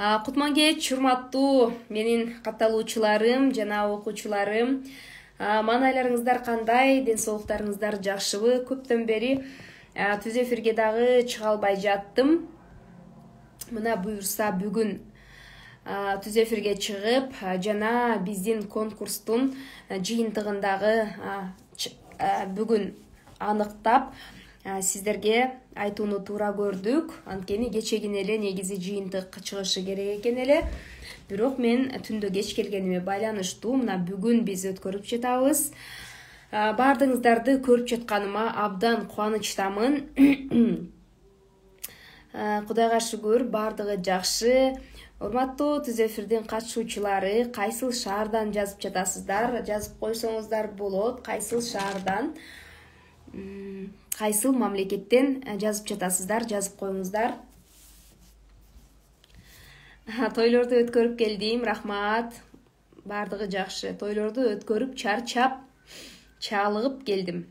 Кутман кеч, урматтуу менин катталуучуларым жана окуучуларым. Маанайларыңыздар кандай? Ден соолуктарыңыздар жакшыбы? Көптөн бери түз эфирге дагы чыга албай жаттым. Мына буюрса бүгүн түз эфирге чыгып, жана биздин конкурстун жыйынтыгындагы бүгүн аныктап сиздерге айтууну туура көрдүк. Анткени кечегин эле негизи жыйынтык чыгышы керек экен эле. Бирок мен түндө кеч келгениме байланыштуу мына бүгүн биз өткөрүп жатабыз. Баардыгыңыздарды көрүп жатканыма абдан кубанычтамын. Кудайга шүгүр, баардыгы жакшы. Урматтуу түз эфирдин катышуучулары, кайсыл шаардан жазып жатасыздар? Жазып койсоңуздар болот. Кайсыл шаардан, кайсыл мамлекеттен жазып жатасыздар? Жазып коюңуздар. Тойлорду өткөрүп келдим, рахмат. Баардыгы жакшы. Тойлорду өткөрүп чарчап, чалыгып келдим.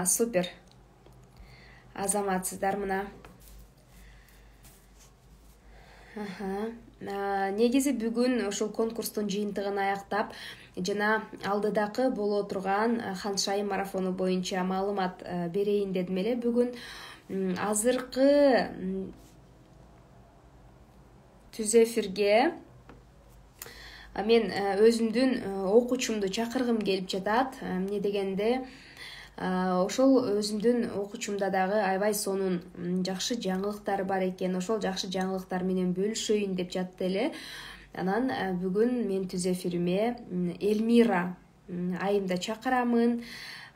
Супер. Азаматсыздар мына. Негизи бүгүн ошол конкурстун жыйынтыгын аяктап, жана алдыдагы боло турган Ханшайым марафону боюнча маалымат берейин дедим эле. Бүгүн азыркы түз эфирге мен өзүмдүн окуучумду чакыргым келип жатат. Эмне дегенде, ошол өзүмдүн окуучумда дагы аябай сонун жакшы жаңылыктар бар экен. Ошол жакшы жаңылыктар менен бөлүшөйүн деп жатты эле. Анан бүгүн мен түз эфириме Элмира айымды чакырамын.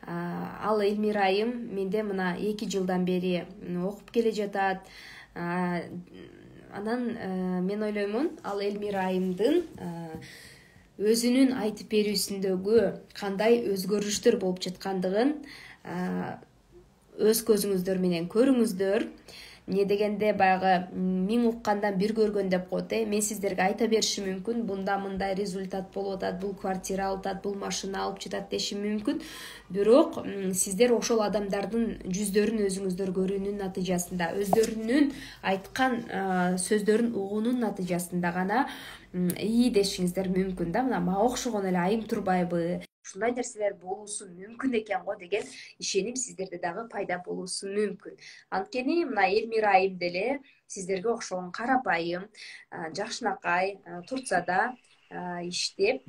Ал Элмира айым менде мына 2 жылдан бери окуп келе жатат. Анан мен ойлоймун, ал Элмира айымдын өзүнүн айтып берүүсүндөгү кандай өзгөрүштөр болуп жаткандыгын өз көзүңүздөр менен көрүңүздөр. Эмне дегенде баягы 1000 уккандан 1 көргөн деп коет. Мен сиздерге айта беришим мүмкүн, бунда мындай результат болуп атат, бул квартира алып атат, бул машина алып жатат дешим мүмкүн. Бирок сиздер ошол адамдардын жүздөрүн өзүңүздөр көрүүнүн натыйжасында, өздөрүнүн айткан сөздөрүн угуунун натыйжасында гана ии дешиңиздер мүмкүн да. Мына мага окшогон эле айым турбайбы? Ушундай нерселер болуусу мүмкүн экен го деген ишеним сиздерде дагы пайда болуусу мүмкүн. Анткени мына Элмира айым деле сиздерге окшогон карапайым, жакшынакай, Турцияда иштеп,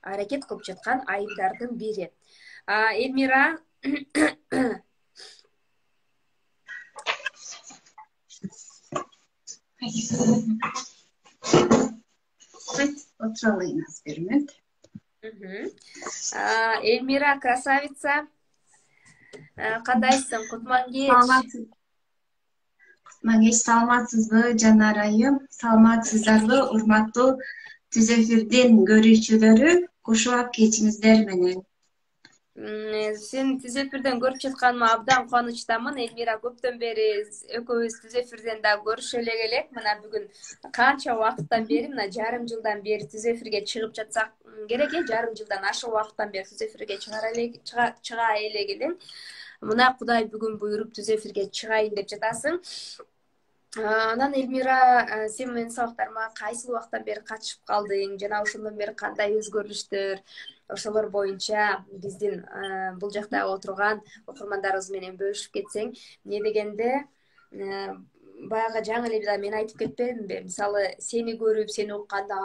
аракет кылып жаткан айымдардын бири. Элмира Отура алайын аз бир мүнөт. Элмира красавица. Кандайсың? Кутман кеч. Кутман кеч, саламатсызбы Жанар айым? Саламатсыздарбы урматтуу түз эфирдин көрүүчүлөрү? Кушулап кечиңиздер менен. Сен түз эфирден көрүп жатканыма абдан кубанычтамын. Элмира, көптөн бери экөөбүз түз эфирден да көрүшө элек элек. Мына бүгүн канча убакыттан бери, мына жарым жылдан бери түз эфирге чыгып жатсак керек, жарым жылдан ашык убакыттан бери түз эфирге чыга элек элең. Мына Кудай бүгүн буйруп түз эфирге чыгайын деп жатасың. Анан Элмира, сен менин сабактарыма кайсыл убакыттан бери катышып калдың, жана ошондон бери кандай өзгөрүштөр, ошолор боюнча биздин бул жакта отурган окурмандарыбыз менен бөлүшүп кетсең. Эмне дегенде, баягы жаңы эле мен айтып кетпедимби? Мисалы, сени көрүп, сени укканда,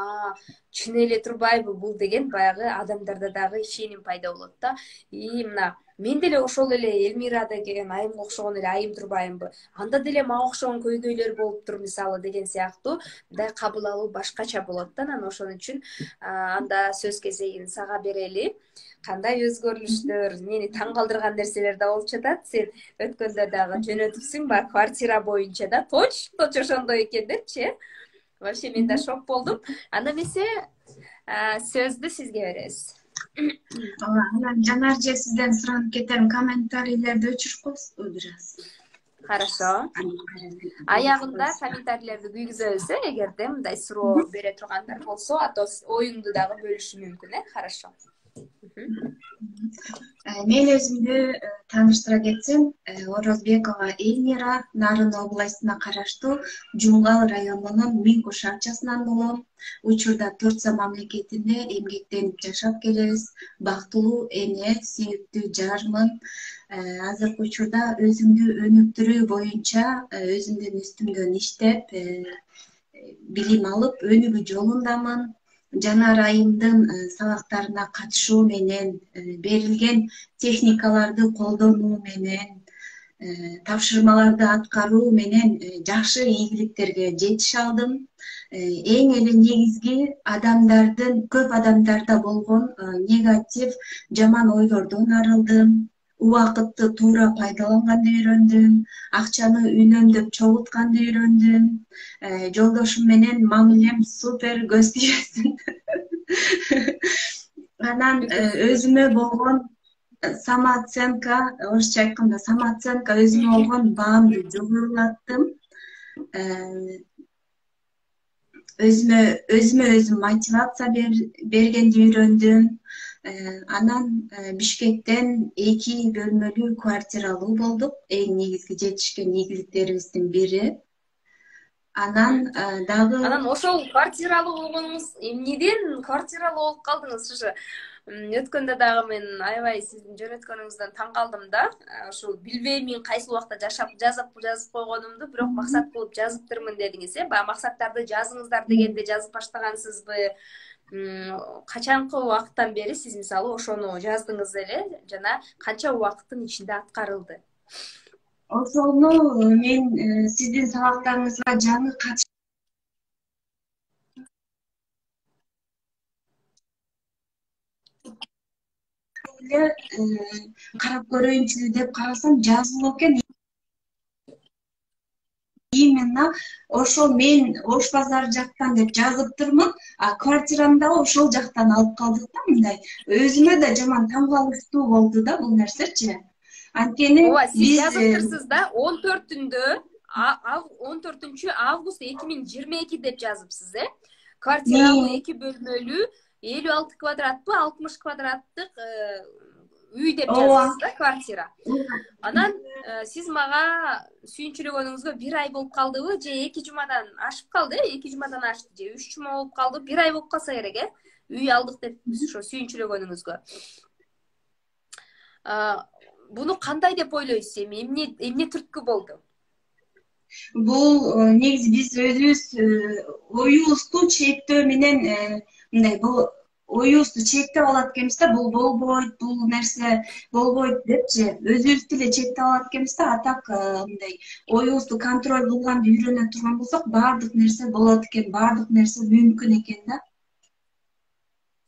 чын эле турбайбы бул деген баягы адамдарда дагы ишеним пайда болот да. Мына мен деле ошол эле Элмира деген айымга окшогон эле айым турбайымбы? Анда деле мага окшогон көйгөйлөр болуптур мисалы деген сыяктуу мындай кабыл алуу башкача болот да. Анан ошон үчүн анда сөз кезегин сага берели. Кандай өзгөрүлүштөр, мени таң калтырган нерселер да болуп жатат. Сен өткөндө дагы жөнөтүпсүң, баягы квартира боюнча да, точно ошондой экендерчи. Вообще мен да шок болдум. Анда эмесе сөздү сизге беребиз. Анан Жанар же сизден суранып кетем, комментарийлерди өчүрүп коесузбу бир аз? Хорошо. Аягында комментарийлерди күйгүзөбүз, эгерде мындай суроо бере тургандар болсо, ато оюңду дагы бөлүшү мүмкүн, Хорошо. Мен өзүмдү тааныштыра кетсем, Орозбекова Эльмира Нарын областына караштуу Жумгал районунун Минку шарчасынан болом. Учурда Турция мамлекетинде эмгектенип жашап келебиз. Бактылуу эне, сүйүктүү жармын. Азыркы учурда өзүмдү өнүктүрүү боюнча өзүмдүн үстүмдөн иштеп, билим алып, өнүгүү жолундамын. Жанар айымдын сабактарына катышуу менен, берилген техникаларды колдонуу менен, тапшырмаларды аткаруу менен жакшы ийгиликтерге жетише алдым. Эң эле негизги көп адамдарда болгон негатив, жаман ойлордон арылдым. Убакытты туура пайдаланганды үйрөндүм, акчаны үнөмдөп чогултканды үйрөндүм. Жолдошум менен мамилем супер, көз тиесин. Анан өзүмө болгон самооценка, орусча айтканда самооценка, өзүмө болгон баамды жогорулаттым. Өзүмө өзүм мотивация бергенди үйрөндүм. Анан Бишкектен 2 бөлмөлүү квартира алуу болдук. Эң негизги жетишкен ийгиликтерибиздин бири. Анан дагы ошол квартиралуу болгонуңуз эмнеден квартиралуу болуп калдыңыз? Ушу өткөндө дагы мен аябай сиздин жөнөткөнүңүздөн таң калдым да. Ушул билбеймин кайсы убакта жазып койгонумду, бирок максат кылып жазыптырмын дедиңиз, Баягы максаттарды жазыңыздар дегенде жазып баштагансызбы? Качанкы убакыттан бери сиз мисалы ошону жаздыңыз эле жана канча убакыттын ичинде аткарылды? Ошону мен сиздин сабактарыңызга жаңы карап көрөйүнчү деп карасам жазылып экен. Именно ошол мен Ош базары жактан деп жазыптырмын, а квартирамды дагы ошол жактан алып калдык да мындай. Өзүмө да жаман таң калыштуу болду да бул нерсечи. Анткени сиз жазыптырсыз да 14 август 2022 деп жазыпсыз, Квартиралуу 2 бөлмөлүү 56 квадратпы, 60 квадраттык үй деп жазыпсыз да, квартира. Анан сиз мага сүйүнчүлөгөнүңүзгө 1 ай болуп калдыбы, же 2 жумадан ашып калды, 2 жумадан ашты, же 3 жума болуп калды, 1 ай болуп калса керек, үй алдык деп ошо сүйүнчүлөгөнүңүзгө. Буну кандай деп ойлойсуз эми? Эмне түрткү болду? Бул негизи биз өзүбүз оюбузду чектөө менен мындай оюбузду чектеп алат экенбиз да, бул болбойт, бул нерсе болбойт депчи, өзүбүздү эле чектеп алат экенбиз да. А так мындай оюбузду контроль кылганды үйрөнө турган болсок, баардык нерсе болот экен, баардык нерсе мүмкүн экен да.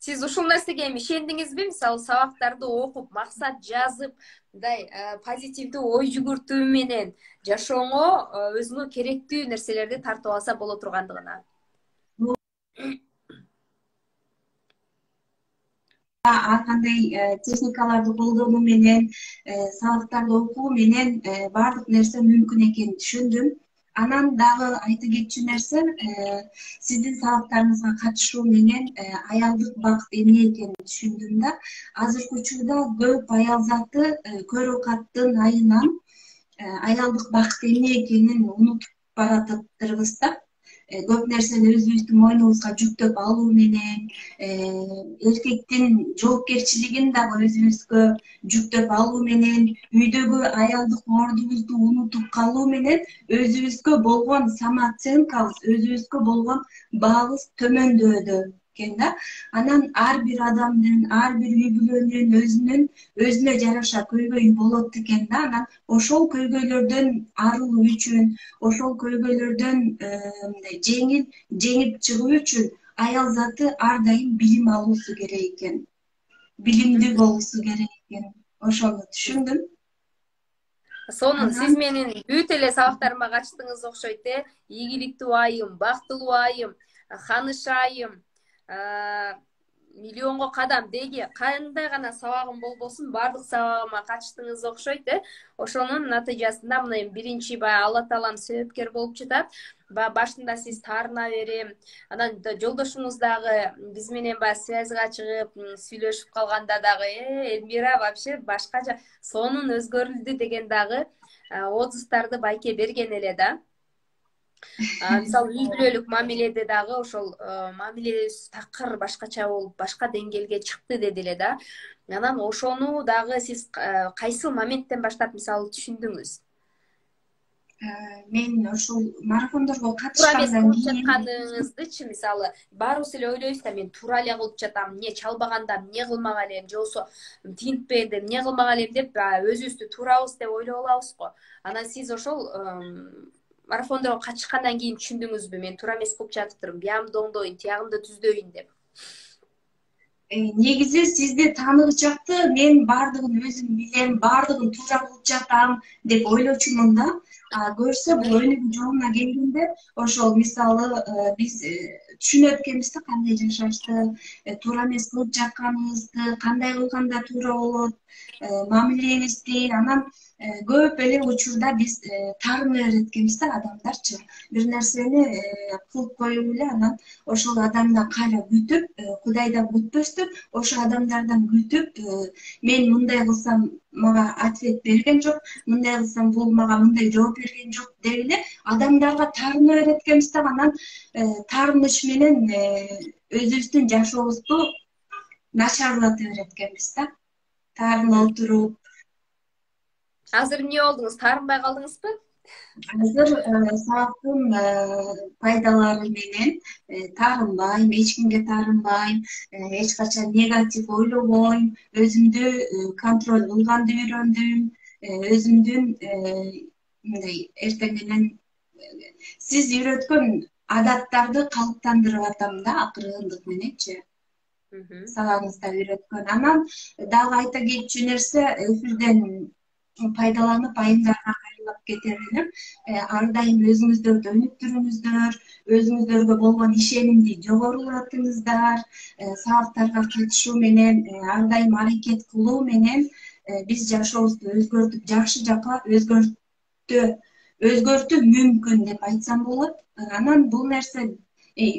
Сиз ушул нерсеге эми ишендиңизби? Мисалы сабактарды окуп, максат жазып, мындай позитивдүү ой жүгүртүү менен жашооңо өзүңө керектүү нерселерди тартып алса боло тургандыгына. Ар кандай техникаларды колдонуу менен, сабактарды окуу менен баардык нерсе мүмкүн экенин түшүндүм. Анан дагы айта кетчү нерсе, сиздин сабактарыңызга катышуу менен аялдык бакыт эмне экенин түшүндүм да. Азыркы учурда көп аял заты көрөкаттын айынан аялдык бакыт эмне экенин унутуп баратыптырбыз да. Көп нерсени өзүбүздүн мойнубузга жүктөп алуу менен, эркектин жоопкерчилигин дагы өзүбүзгө жүктөп алуу менен, үйдөгү аялдык ордубузду унутуп калуу менен өзүбүзгө болгон самооценкабыз, өзүбүзгө болгон баабыз төмөндөдө экен да. Анан ар бир адамдын, ар бир үй бүлөнүн өзүнө жараша көйгөйү болот экен да. Анан ошол көйгөйлөрдөн арылуу үчүн, ошол көйгөйлөрдөн жеңип чыгуу үчүн аял заты ар дайым билим алуусу керек экен, билимдүү болуусу керек экен. Ошону түшүндүм. Сонун сиз менин бүт эле сабактарыма катыштыңыз окшойт, ийгиликтүү айым, бактылуу айым, ханыш айым, миллионго кадам деги кандай гана сабагым болбосун баардык сабагыма качтыңыз окшойт ошонун натыйжасында мына эми биринчи баягы Алла таалам себепкер болуп жатат. Баягы башында сиз таарына берем, анан жолдошуңуз дагы биз менен баягы связьга чыгып сүйлөшүп калганда дагы Эльмира вообще башкача сонун өзгөрүлдү деген дагы отзывдарды байке берген эле да. Мисалы үй бүлөлүк мамиледе дагы ошол мамилебиз такыр башкача болуп, башка деңгээлге чыкты деди эле да. Анан ошону дагы сиз кайсы моменттен баштап мисалы түшүндүңүз? Мен ошол марафондорго Туура эмес катышкандан кылып кийин жатканыңыздычы, мисалы баарыбыз эле ойлойбуз да, мен туура эле кылып жатам, эмне чалбаганда эмне кылмак элем, же болбосо тинтпегенде эмне кылмак элем деп өзүбүздү туурабыз деп ойлоп алабыз го. Анан сиз ошол марафондорго катышкандан кийин түшүндүңүзбү, мен туура эмес кылып жатыптырмын, биягымды оңдойн, тиягымды түздөйүн деп? негизи сизди тааныгычакты мен баардыгын өзүм билем, баардыгын туура кылып жатам деп ойлочумун да. Көрсө бул өнүгүү жолуна келгенде ошол мисалы биз түшүнөт экенбиз да кандай жашашты, туура эмес кылып жатканыбызды, кандай кылганда туура болот, мамилебизди. Анан көп эле учурда биз таарына берет экенбиз да, адамдарчы. Бир нерсени кылып коюп эле анан ошол адамдан кайра күтүп, Кудай да күтпөстүн, ошол адамдардан күтүп, мен мындай кылсам мага ответ берген жок, мындай кылсам бул мага мындай жооп берген жок деп эле адамдарга таарына берет экенбиз да. Анан таарыныч менен өзүбүздүн жашообузду начарлата берет экенбиз да. Таарына отуруп. Азыр эмне болдуңуз? Таарынбай калдыңызбы? Азыр сабактын пайдалары менен таарынбайм, эч кимге таарынбайм, эч качан негатив ойлобойм, өзүмдү контроль кылганды үйрөндүм, өзүмдүн мындай эртең менен сиз үйрөткөн адаттарды калыптандырып атам да, акырындык мененчи. Сабагыңызда үйрөткөн. Анан дагы айта кетчү нерсе, эфирден пайдаланып айымдарга кайрылып кетер элем. Ар дайым өзүңүздөрдү өнүктүрүңүздөр, өзүңүздөргө болгон ишенимди жогорулатыңыздар. Сабактарга катышуу менен, ар дайым аракет кылуу менен биз жашообузду өзгөртүп, жакшы жакка өзгөртүү мүмкүн деп айтсам болот. Анан бул нерсе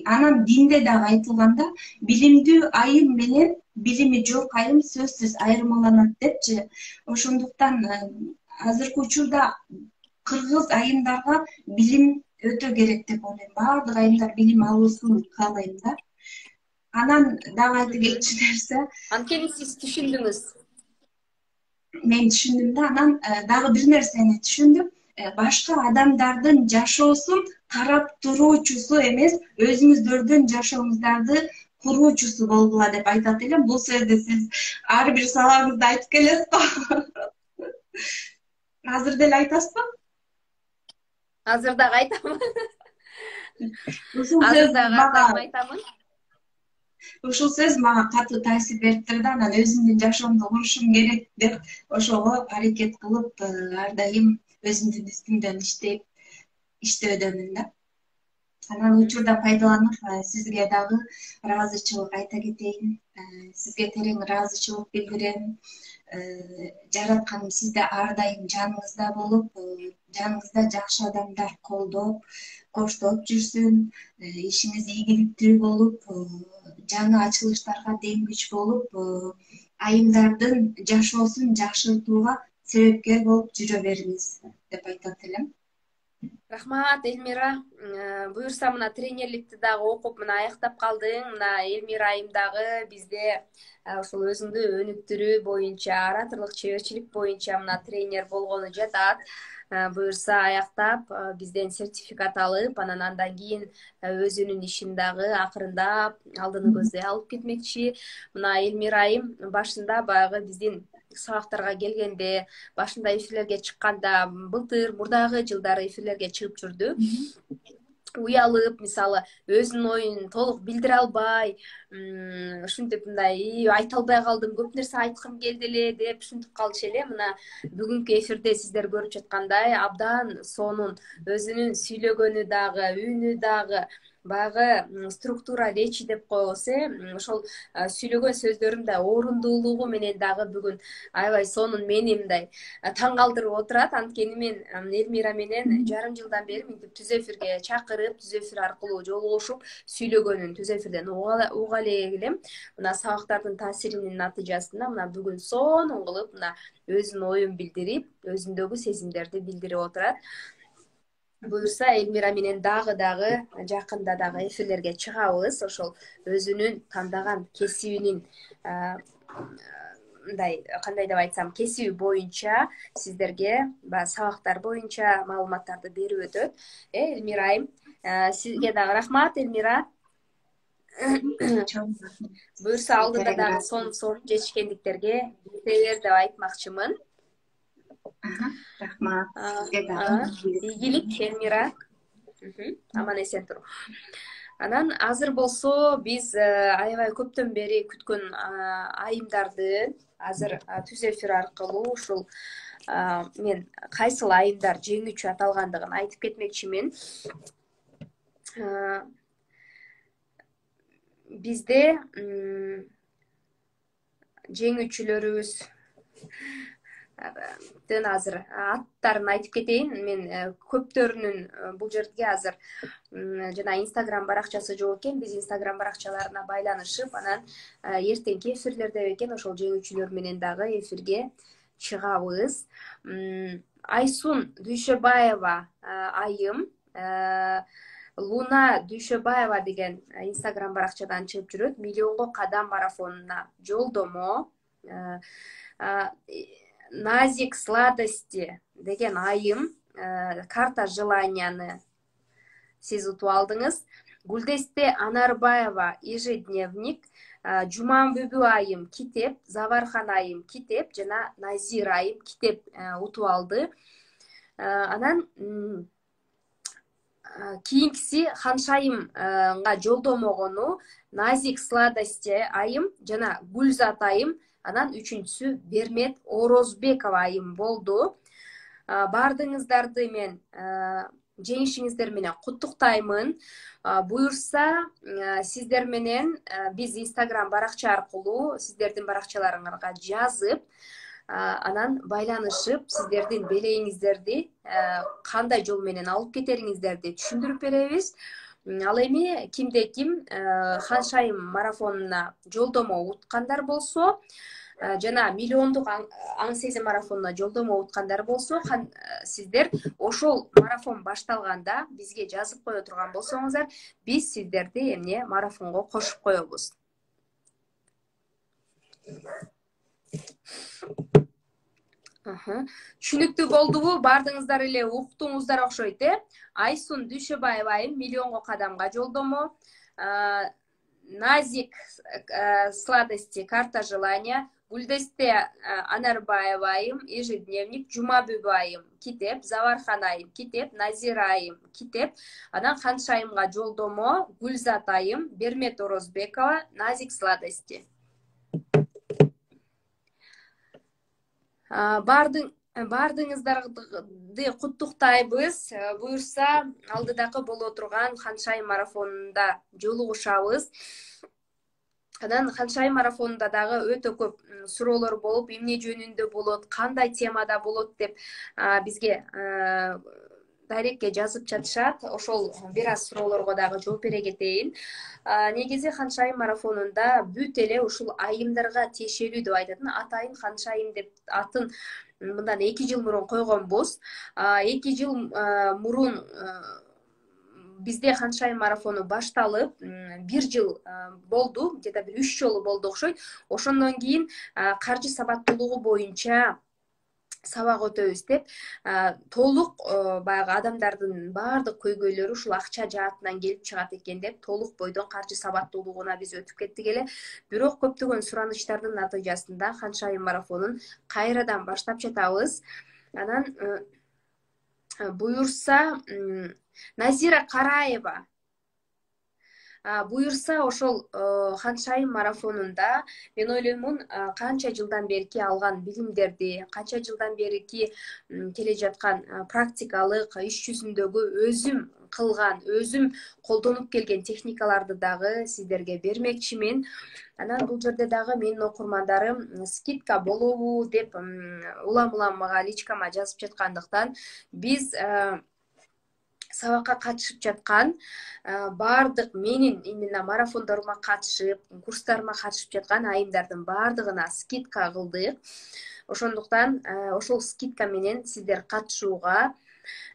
анан динде дагы айтылганда, билимдүү айым менен билими жок айым сөзсүз айырмаланат депчи. Ошондуктан азыркы учурда кыргыз айымдарга билим өтө керек деп ойлойм. Баардык айымдар билим алуусун каалайм да. Анан дагы айта кетчү нерсе, Анткени сиз түшүндүңүз. Мен түшүндүм да. Анан дагы бир нерсени түшүндүм. Башка адамдардын жашоосун карап туруучусу эмес, өзүңүздөрдүн жашооңуздарды куруучусу болгула деп айтат элем. Бул сөздү сиз ар бир сабагыңызда айтып келесиз го. Азыр деле айтасызбы? Азыр дагы айтамын. Ушул Азыр сөз дагы мага айтамын. Ушул сөз мага катуу таасир бериптир да. Анан өзүмдүн жашоомду курушум керек деп ошого аракет кылып, ар дайым өзүмдүн үстүмдөн иштөөдөмүн да. Анан учурдан пайдаланып, сизге дагы ыраазычылык айта кетейин. Сизге терең ыраазычылык билдирем. Жаратканым сизди ар дайым жаныңызда болуп, жаныңызда жакшы адамдар колдоп, коштоп жүрсүн. Ишиңиз ийгиликтүү болуп, жаңы ачылыштарга демгич болуп, айымдардын жашоосун жакшыртууга себепкер болуп жүрө бериңиз деп айтат элем. Рахмат, Эльмира. Буюрса мына тренерликти дагы окуп мына аяктап калдың. Мына Эльмира айым дагы бизде ошол өзүңдү өнүктүрүү боюнча, ораторлук чеберчилик боюнча мына тренер болгону жатат. Буюрса аяктап бизден сертификат алып, андан кийин өзүнүн ишин дагы акырындап алдыны көздөй алып кетмекчи. Мына Эльмира айым башында баягы биздин сабактарга келгенде, башында эфирлерге чыкканда, былтыр мурдагы жылдары эфирлерге чыгып жүрдү. Уялып, мисалы, өзүнүн оюн толук билдире албай, ушинтип мындай айта албай калдым, көп нерсе айткым келди эле деп ушинтип калчу эле. Мына бүгүнкү эфирде сиздер көрүп жаткандай абдан сонун өзүнүн сүйлөгөнү дагы, үнү дагы, баягы структура речи деп коебуз, ошол сүйлөгөн сөздөрүм да орундуулугу менен дагы бүгүн аябай сонун мени мындай таң калтырып отурат. Анткени мен Элмира менен жарым жылдан бери мынтип түз эфирге чакырып, түз эфир аркылуу жолугушуп сүйлөгөнүн түз эфирден уга элем. Мына сабактардын таасиринин натыйжасында мына бүгүн сонун кылып мына өзүнүн оюн билдирип, өзүндөгү сезимдерди билдирип отурат. Буюрса Элмира менен дагы жакында дагы эфирлерге чыгабыз. Ошол өзүнүн тандаган кесибинин мындай кандай деп айтсам, кесиби боюнча сиздерге баягы сабактар боюнча маалыматтарды берип өтөт. Элмира айым, сизге дагы рахмат, Элмира. Буюрса алдыда дагы сонун сорун чечкендиктерге деп айтмакчымын. Рахмат. Сизге дагы ийгилик, Элмира. Аман эсен тур. Анан азыр болсо биз аябай көптөн бери күткөн айымдарды азыр түз эфир аркылуу ушул мен кайсыл айымдар жеңүүчү аталгандыгын айтып кетмекчимин. Бизде жеңүүчүлөрүбүз азыр аттарын айтып кетейин. Мен көптөрүнүн бул жерге азыр жана Instagram баракчасы жок экен. Биз Instagram баракчаларына байланышып, анан эртеңки эфирлерде бекен ошол жеңүүчүлөр менен дагы эфирге чыгабыз. Айсун Дүйшөбаева айым Луна Дүйшөбаева деген Instagram баракчадан чыгып жүрөт. Миллионго кадам марафонуна жолдомо. Назик Сладости деген айым карта желанияны сиз утуп алдыңыз. Гүлдесте Анарбаева ежедневник, Жуманбүбү айым китеп, Завархан айым китеп жана Назир айым китеп утуп алды. Анан кийинкиси Ханшайымга жолдомогону Назик Сладости айым жана Гүлзат айым. Анан үчүнчүсү Бермет Орозбекова айым болду. Бардыгыңыздарды мен жеңишиңиздер менен куттуктаймын. Буюрса сиздер менен биз Instagram баракча аркылуу сиздердин баракчаларыңарга жазып, анан байланышып, сиздердин белегиңиздерди кандай жол менен алып кетериңиздерди түшүндүрүп беребиз. Ал эми кимде ким Ханшайым марафонуна жолдомо уткандар болсо жана миллиондук аң сезим марафонуна жолдомо уткандар болсо, сиздер ошол марафон башталганда бизге жазып кое турган болсоңуздар, биз сиздерди эмне марафонго кошуп коебуз. Түшүнүктүү болдубу? Бардыгыңыздар эле уктуңуздар окшойт, Айсун Дүйшөбаева айым миллионго кадамга жолдомо. Назик Сладости карта желания, Гүлдесте Анарбаева айым ежедневник, Жумабүбү айым китеп, Завархан айым китеп, Назир айым китеп. Анан Ханшайымга жолдомо Гүлзат айым, Бермет Орозбекова, Назик Сладости. Бардыгыңыздарды куттуктайбыз. Буюрса алдыдагы боло турган Ханшайым марафонунда жолугушабыз. Анан Ханшайым марафонунда дагы өтө көп суроолор болуп, эмне жөнүндө болот, кандай темада болот деп бизге дайректке жазып жатышат. Ошол бир аз суроолорго дагы жооп бере кетейин. Негизи Ханшайым марафонунда бүт эле ушул айымдарга тиешелүү деп айтат. Атайын Ханшайым деп атын мындан 2 жыл мурун койгонбуз. 2 жыл мурун бизде Ханшайым марафону башталып, 1 жыл болду, жада бир 3 жолу болду окшойт. Ошондон кийин каржы сабаттуулугу боюнча сабак өтөбүз деп, толук баягы адамдардын баардык көйгөйлөрү ушул акча жаатынан келип чыгат экен деп, толук бойдон каржы сабаттуулугуна биз өтүп кеттик эле. Бирок көптөгөн суранычтардын натыйжасында Ханшайым марафонун кайрадан баштап жатабыз. Анан буюрса Назира Караева буюрса ошол Ханшайым марафонунда мен ойлоймун канча жылдан берки алган билимдерди, канча жылдан берки келе жаткан практикалык иш жүзүндөгү өзүм кылган, өзүм колдонуп келген техникаларды дагы сиздерге бермекчимин. Анан бул жерде дагы менин окурмандарым скидка болобу деп улам мага личкама жазып жаткандыктан биз сабакка катышып жаткан баардык менин именно марафондорума катышып, курстарыма катышып жаткан айымдардын баардыгына скидка кылдык. Ошондуктан ошол скидка менен сиздер катышууга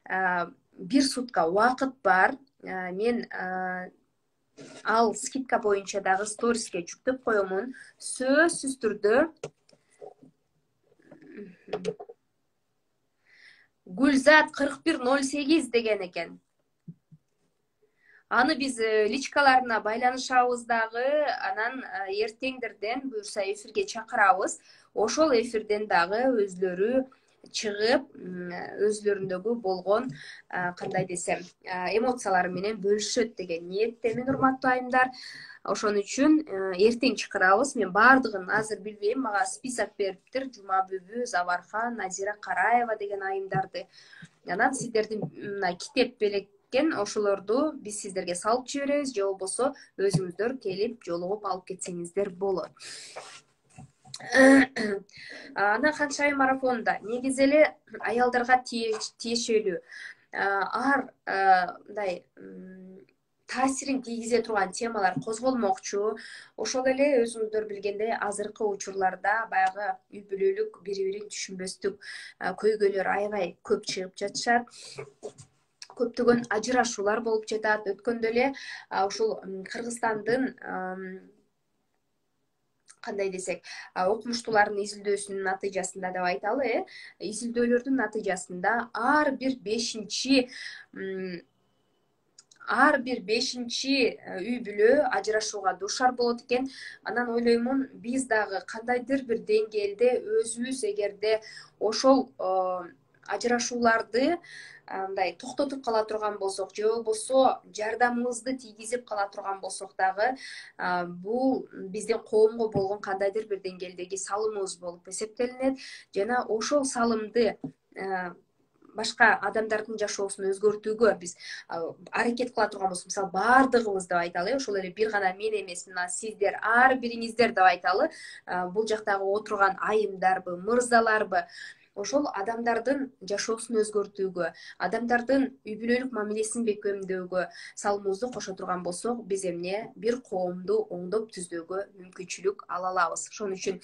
1 сутка убакыт бар. Мен ал скидка боюнча дагы сториске жүктөп коемун. Сөзсүз түрдө Гүлзат 4108 деген экен. Аны биз личкаларына байланышабыз дагы, анан эртеңдерден буюрса эфирге чакырабыз. Ошол эфирден дагы өзлөрү чыгып, өзлөрүндөгү болгон кандай десем, эмоциялары менен бөлүшөт деген ниеттемин, урматтуу айымдар. Ошон үчүн эртең чакырабыз. Мен баардыгын азыр билбейм, мага список бериптир. Жума Бүбү, Забархан, Назира Караева деген айымдарды. Анан сиздердин китеп белеккен ошолорду биз сиздерге салып жиберебиз, же болбосо өзүңүздөр келип жолугуп алып кетсеңиздер болот. Анан Ханшайым марафонунда негизи эле аялдарга тиешелүү мындай таасирин тийгизе турган темалар козголмокчу. Ошол эле өзүңүздөр билгендей азыркы учурларда баягы үй бүлөлүк бири-бирин түшүнбөстүк көйгөйлөр аябай көп чыгып жатышат. Көптөгөн ажырашуулар болуп жатат. Өткөндө эле ушул Кыргызстандын кандай десек, окумуштуулардын изилдөөсүнүн натыйжасында деп айталы, изилдөөлөрдүн натыйжасында ар бир бешинчи үй бүлө ажырашууга дуушар болот экен. Анан ойлоймун, биз дагы кандайдыр бир деңгээлде өзүбүз эгерде ошол ажырашууларды мындай токтотуп кала турган болсок, же болбосо жардамыбызды тийгизип кала турган болсок дагы, бул биздин коомго болгон кандайдыр бир деңгээлдеги салымыбыз болуп эсептелинет. Жана ошол салымды башка адамдардын жашоосун өзгөртүүгө биз аракет кыла турган болсок, мисалы баардыгыбыз деп айталы, ошол эле бир гана мен эмес, мына сиздер, ар бириңиздер деп айталы, бул жактагы отурган айымдарбы, мырзаларбы, ошол адамдардын жашоосун өзгөртүүгө, адамдардын үй бүлөлүк мамилесин бекемдөөгө салымыбызды кошо турган болсок, биз эмне бир коомду оңдоп түздөөгө мүмкүнчүлүк ала алабыз. Ошон үчүн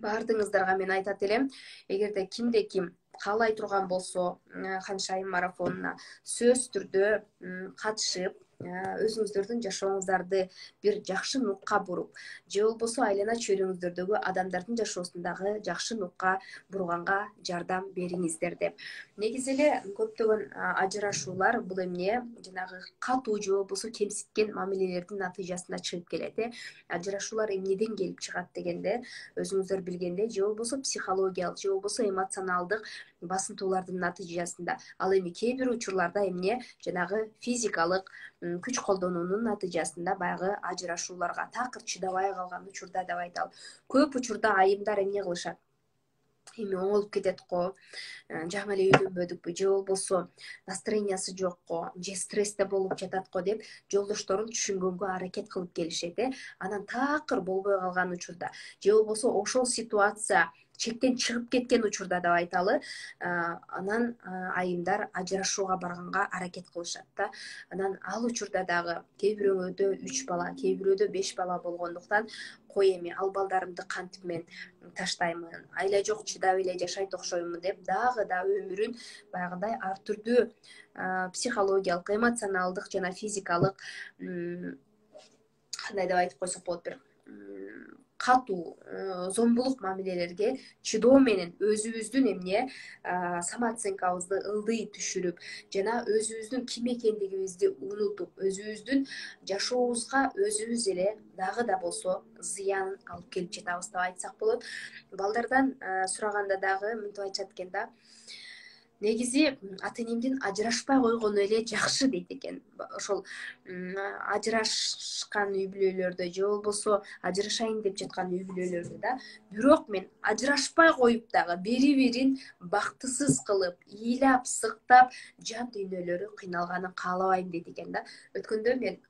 баардыгыңыздарга мен айтат элем, эгерде кимде ким каалай турган болсо Ханшайым марафонуна сөзсүз түрдө катышып, өзүңүздөрдүн жашооңуздарды бир жакшы нукка буруп, же болбосо айлана чөйрөңүздөрдөгү адамдардын жашоосун дагы жакшы нукка бурганга жардам бериңиздер деп. Негизи эле көптөгөн ажырашуулар бул эмне, жанагы катуу же болбосо кемситкен мамилелердин натыйжасында чыгып келет. Ажырашуулар эмнеден келип чыгат дегенде, өзүңүздөр билгендей, же болбосо психологиялык, же болбосо эмоционалдык басынтуулардын натыйжасында. Ал эми кээ бир учурларда эмне, жанагы физикалык күч колдонуунун натыйжасында баягы ажырашууларга такыр чыдабай калган учурда деп айталы. Көп учурда айымдар эмне кылышат? Эми оңолуп кетет го, жама эле үйлөнбөдүкпү, же болбосо настроениясы жок го, же стрессте болуп жатат го деп жолдошторун түшүнгөнгө аракет кылып келишет. Анан такыр болбой калган учурда, же болбосо ошол ситуация чектен чыгып кеткен учурда деп айталы, анан айымдар ажырашууга барганга аракет кылышат да. Анан ал учурда дагы кээ бирөөдө 3 бала, кээ бирөөдө 5 бала болгондуктан, кой эми ал балдарымды кантип мен таштаймын, айла жок чыдап эле жашайт окшоймун деп дагы да өмүрүн баягындай ар түрдүү психологиялык, эмоционалдык жана физикалык кандай деп айтып койсок болот, бир катуу зомбулук мамилелерге чыдоо менен өзүбүздүн эмне самооценкабызды ылдый түшүрүп, жана өзүбүздүн ким экендигибизди унутуп, өзүбүздүн жашообузга өзүбүз эле дагы да болсо зыянын алып келип жатабыз деп айтсак болот. Балдардан сураганда дагы мынтип айтышат экен да, негизи ата энемдин ажырашпай койгону эле жакшы дейт экен. Ошол ажырашкан үй бүлөлөрдө же болбосо ажырашайын деп жаткан үй бүлөлөрдө да, бирок мен ажырашпай коюп дагы бири бирин бактысыз кылып, ыйлап, сыктап, жан дүйнөлөрү кыйналганын каалабайм дейт экен да. Өткөндө мен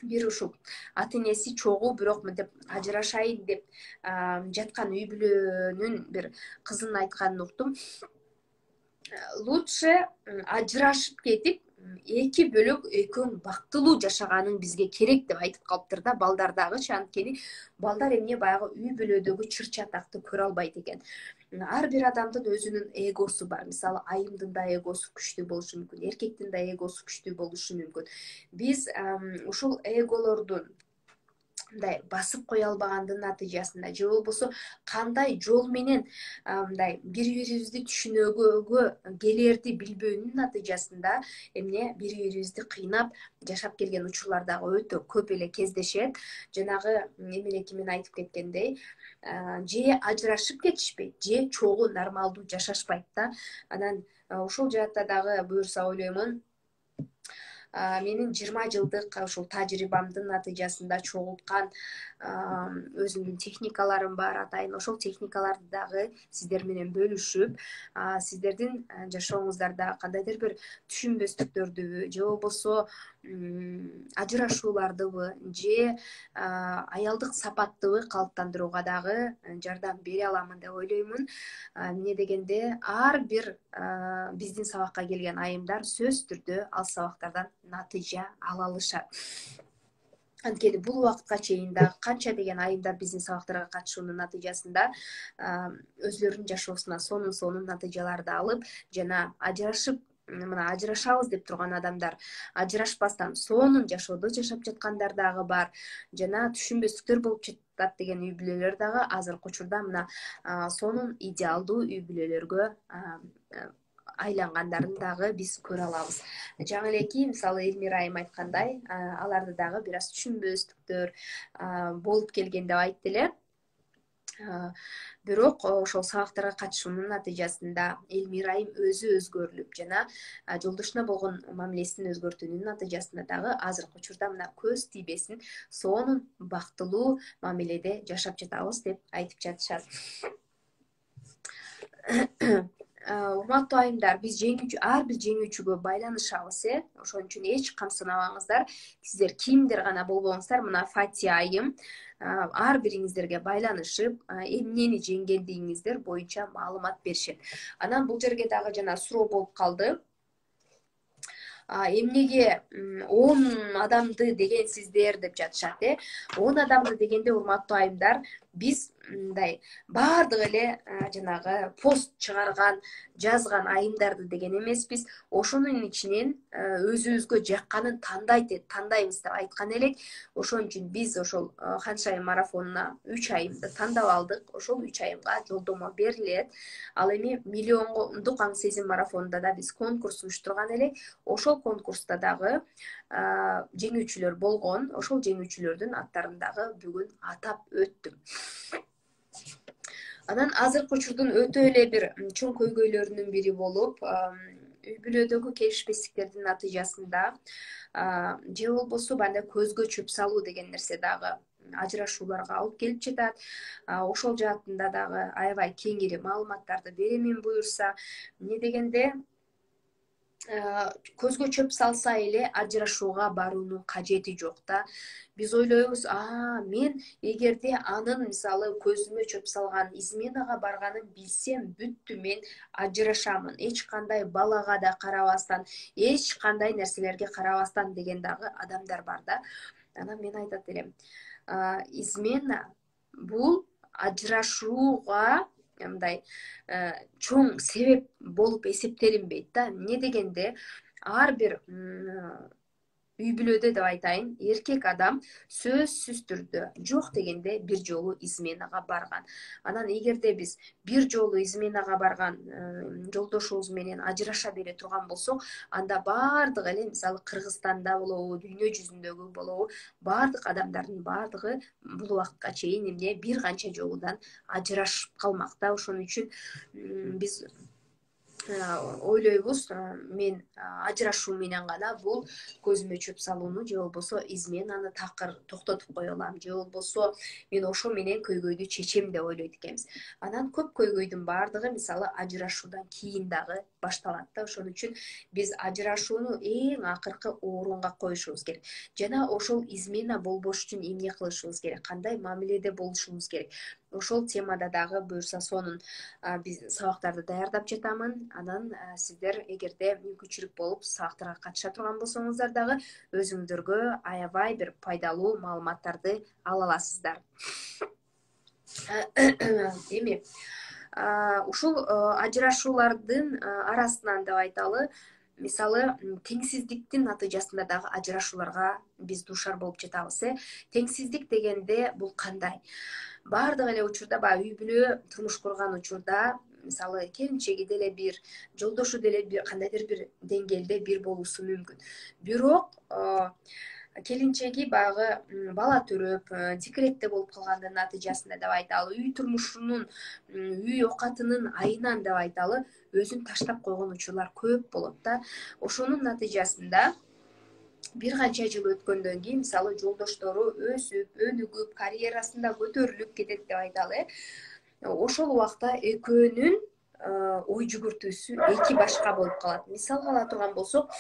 бир ушул ата энеси чогуу бирок мынтип ажырашайын деп жаткан үй бүлөнүн бир кызын айтканын уктум. Лучше ажырашып кетип, эки бөлөк экөөң бактылуу жашаганың бизге керек деп айтып калыптыр да, балдар дагычы. Анткени балдар эмне баягы үй бүлөдөгү чыр чатакты көрө албайт экен. Ар бир адамдын өзүнүн эгосу бар. Мисалы, айымдын да эгосу күчтүү болушу мүмкүн, эркектин да эгосу күчтүү болушу мүмкүн. Биз ушул эголордун мындай басып кое албагандын натыйжасында же болбосо кандай жол менен мындай бири бирибизди түшүнүүгө келерди билбөөнүн натыйжасында эмне бири бирибизди кыйнап жашап келген учурлар дагы өтө көп эле кездешет. Жанагы эмелеки мен айтып кеткендей, же ажырашып кетишпейт, же чогуу нормалдуу жашашпайт да. Анан ошол жаатта дагы буюрса ойлоймун, менин 20 жылдык ушул тажрыйбамдын натыйжасында чогулткан өзүмдүн техникаларым бар атайын. Ошол техникаларды дагы сиздер менен бөлүшүп, сиздердин жашооңуздарда кандайдыр бир түшүнбөстүктөрдүбү же болбосо ажырашуулардыбы же аялдык сапаттыбы калыптандырууга дагы жардам бере аламын деп ойлоймун. Эмне дегенде ар бир биздин сабакка келген айымдар сөзсүз түрдө ал сабактардан натыйжа ала алышат. Анткени бул убакытка чейин дагы канча деген айымдар биздин сабактарга катышуунун натыйжасында өзлөрүнүн жашоосуна сонун натыйжаларды алып, жана ажырашып, мына ажырашабыз деп турган адамдар ажырашпастан сонун жашоодо жашап жаткандар дагы бар. Жана түшүнбөстүктөр болуп жатат деген үй бүлөлөр дагы азыркы учурда мына сонун идеалдуу үй бүлөлөргө айлангандарын дагы биз көрө алабыз. Жаңы элеки мисалы Элмира айым айткандай, аларды дагы бир аз түшүнбөстүктөр болуп келген деп айтты эле. Бирок ошол сабактарга катышуунун натыйжасында Элмира айым өзү өзгөрүлүп, жана жолдошуна болгон мамилесин өзгөртүүнүн натыйжасында дагы азыркы учурда мына көз тийбесин сонун бактылуу мамиледе жашап жатабыз деп айтып жатышат. Урматтуу айымдар, биз ар бир жеңүүчүгө байланышабыз, ошон үчүн эч камсынабаңыздар. Сиздер кимдир гана болбоңуздар, мына Фати айым ар бириңиздерге байланышып, эмнени жеңгендигиңиздер боюнча маалымат беришет. Анан бул жерге дагы жана суроо болуп калды. Эмнеге 10 адамды дегенсиздер деп жатышат, 10 адамды дегенде, урматтуу айымдар, биз мындай баардык эле жанагы пост чыгарган, жазган айымдарды деген эмеспиз. Ошонун ичинен өзүбүзгө жакканын тандайбыз деп айткан элек. Ошон үчүн биз ошол Ханшайым марафонуна 3 айымды тандап алдык. Ошол 3 айымга жолдомо берилет. Ал эми миллиондук аң сезим марафонунда да биз конкурс уюштурган элек. Ошол конкурста дагы жеңүүчүлөр болгон. Ошол жеңүүчүлөрдүн аттарын дагы бүгүн атап өттүм. Анан азыркы учурдун өтө эле бир чоң көйгөйлөрүнүн бири болуп, үй бүлөдөгү келишпестиктердин натыйжасында же болбосо банда көзгө чөп салуу деген нерсе дагы ажырашууларга алып келип жатат. Ошол жаатында дагы аябай кеңири маалыматтарды беремин буюрса. Эмне дегенде, көзгө чөп салса эле ажырашууга баруунун кажети жок да. Биз ойлойбуз, мен эгерде анын мисалы көзүмө чөп салган, изменага барганын билсем, бүттү, мен ажырашамын. Эч кандай балага да карабастан, эч кандай нерселерге карабастан деген дагы адамдар бар да. Анан мен айтат элем, измена бул ажырашууга мындай чоң себеп болуп эсептелинбейт да. Эмне дегенде, ар бир үй бүлөдө деп айтайын, эркек адам сөзсүз түрдө жок дегенде бир жолу изменага барган. Анан эгерде биз бир жолу изменага барган жолдошубуз менен ажыраша бере турган болсок, анда баардык эле мисалы Кыргызстанда болобу, дүйнө жүзүндөгү болобу, баардык адамдардын баардыгы бул убакытка чейин эмне бир канча жолудан ажырашып калмак да. Ошон үчүн биз ойлойбуз мен ажырашуу менен гана бул көзүмө чөп салууну же болбосо изменаны такыр токтотуп кое алам, же болбосо мен ошо менен көйгөйдү чечем деп ойлойт экенбиз. Анан көп көйгөйдүн баардыгы мисалы ажырашуудан кийин дагы башталат да. Ошон үчүн биз ажырашууну эң акыркы орунга коюшубуз керек. Жана ошол измена болбош үчүн эмне кылышыбыз керек, кандай мамиледе болушубуз керек. Ошол темада дагы буюрса сонун биз сабактарды даярдап жатамын. Анан сиздер эгерде мүмкүнчүлүк болуп сабактарга катыша турган болсоңуздар дагы өзүңүздөргө аябай бир пайдалуу маалыматтарды ала аласыздар. Эми ушул ажырашуулардын арасынан деп айталы, мисалы теңсиздиктин натыйжасында дагы ажырашууларга биз дуушар болуп жатабыз. Теңсиздик дегенде бул кандай? Баардык эле учурда баягы үй бүлө турмуш курган учурда мисалы келинчеги деле бир, жолдошу деле бир кандайдыр бир деңгээлде бир болуусу мүмкүн. Бирок келинчеги баягы бала төрөп, декретте болуп калгандын натыйжасында деп айталы, үй турмушунун, үй оокатынын айынан деп айталы, өзүн таштап койгон учурлар көп болот да. Ошонун натыйжасында бир канча жыл өткөндөн кийин мисалы жолдоштору өсүп, өнүгүп, карьерасында көтөрүлүп кетет деп айталы. Ошол убакта экөөнүн ой жүгүртүүсү эки башка болуп калат. Мисалга ала турган болсок,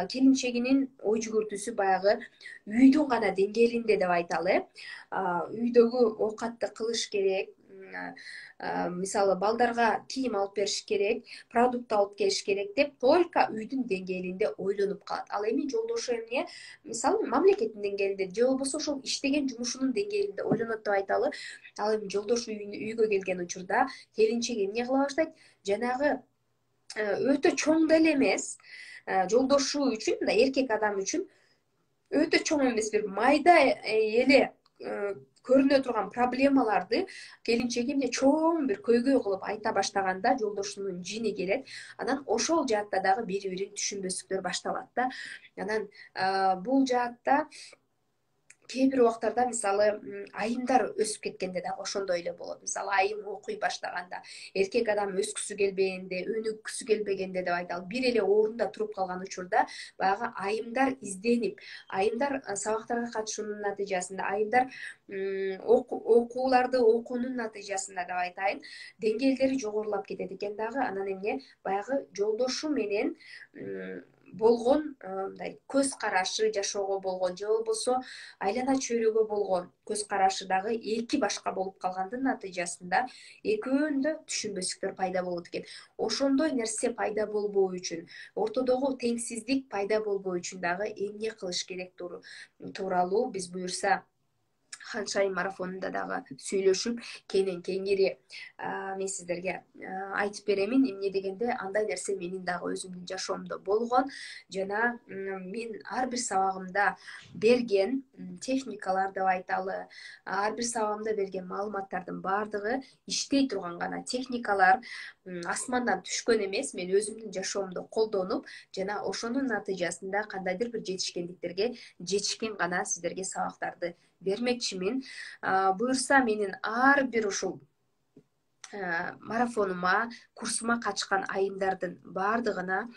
келинчегинин ой жүгүртүүсү баягы үйдүн гана деңгээлинде деп айталы. Үйдөгү оокатты кылыш керек, мисалы балдарга кийим алып бериш керек, продукт алып келиш керек деп только үйдүн деңгээлинде ойлонуп калат. Ал эми жолдошу эмне? Мисалы мамлекеттин деңгээлинде же болбосо ошол иштеген жумушунун деңгээлинде ойлонот деп айталы. Ал эми жолдошу үйгө келген учурда келинчеги эмне кыла баштайт? Жанагы өтө чоң деле эмес, жолдошу үчүн, мындай эркек адам үчүн өтө чоң эмес бир майда эле көрүнө турган проблемаларды келинчеги эмне чоң бир көйгөй кылып айта баштаганда жолдошунун жини келет. Анан ошол жаатта дагы бири бирин түшүнбөстүктөр башталат да. Анан бул жаатта кээ бир убактарда мисалы айымдар өсүп кеткенде дагы ошондой эле болот. Мисалы айым окуй баштаганда, эркек адам өскүсү келбегенде, өнүгүсү келбегенде деп айталы, бир эле орунда туруп калган учурда баягы айымдар изденип, айымдар сабактарга катышуунун натыйжасында, айымдар окууларды окуунун натыйжасында деп айтайын, деңгээлдери жогорулап кетет экен дагы. Анан эмне? Баягы жолдошу менен болгон мындай көз карашы, жашоого болгон же болбосо айлана чөйрөгө болгон көз карашы дагы эки башка болуп калгандын натыйжасында экөөндө түшүнбөстүктөр пайда болот экен. Ошондой нерсе пайда болбоо үчүн, ортодогу теңсиздик пайда болбоо үчүн дагы эмне кылыш керек тууралуу биз буюрса Ханшайым марафонунда дагы сүйлөшүп, кенен кеңири мен сиздерге айтып беремин. Эмне дегенде, андай нерсе менин дагы өзүмдүн жашоомдо болгон жана мен ар бир сабагымда берген техникалар деп айталы, ар бир сабагымда берген маалыматтардын баардыгы иштей турган гана техникалар, асмандан түшкөн эмес, мен өзүмдүн жашоомдо колдонуп жана ошонун натыйжасында кандайдыр бир жетишкендиктерге жетишкен гана сиздерге сабактарды бермекчимин. Буюрса менин ар бир ушул марафонума, курсума катышкан айымдардын баардыгына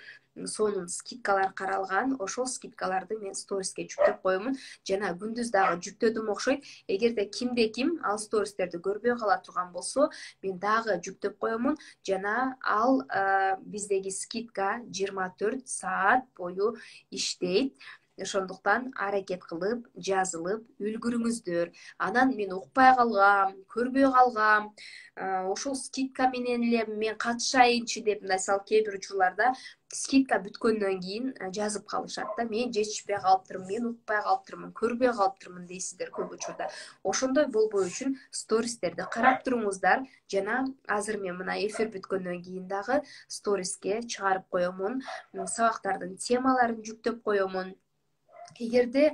сонун скидкалар каралган. Ошол скидкаларды мен сториске жүктөп коемун жана күндүз дагы жүктөдүм окшойт. Эгерде кимде ким ал стористерди көрбөй кала турган болсо, мен дагы жүктөп коемун жана ал биздеги скидка 24 саат бою иштейт. Ошондуктан аракет кылып, жазылып үлгүрүңүздөр. Анан мен укпай калгам, көрбөй калгам, ошол скидка менен эле мен катышайынчы деп, мисалы кээ бир учурларда скидка бүткөндөн кийин жазып калышат да. Мен жетишпей калыптырмын, мен укпай калыптырмын, көрбөй калыптырмын дейсиздер көп учурда. Ошондой болбоо үчүн стористерди карап туруңуздар жана азыр мен мына эфир бүткөндөн кийин дагы сториске чыгарып коемун, сабактардын темаларын жүктөп коемун. Эгерде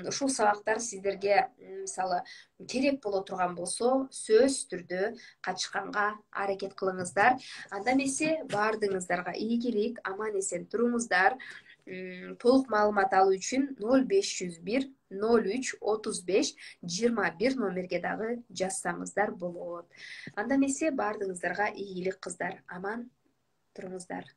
ушул сабактар сиздерге мисалы керек боло турган болсо, сөзсүз түрдө катышканга аракет кылыңыздар. Анда эмесе баардыгыңыздарга ийгилик, аман эсен туруңуздар. Толук маалымат алуу үчүн 0501 03 35 21 номерге дагы жазсаңыздар болот. Анда эмесе баардыгыңыздарга ийгилик кыздар, аман туруңуздар.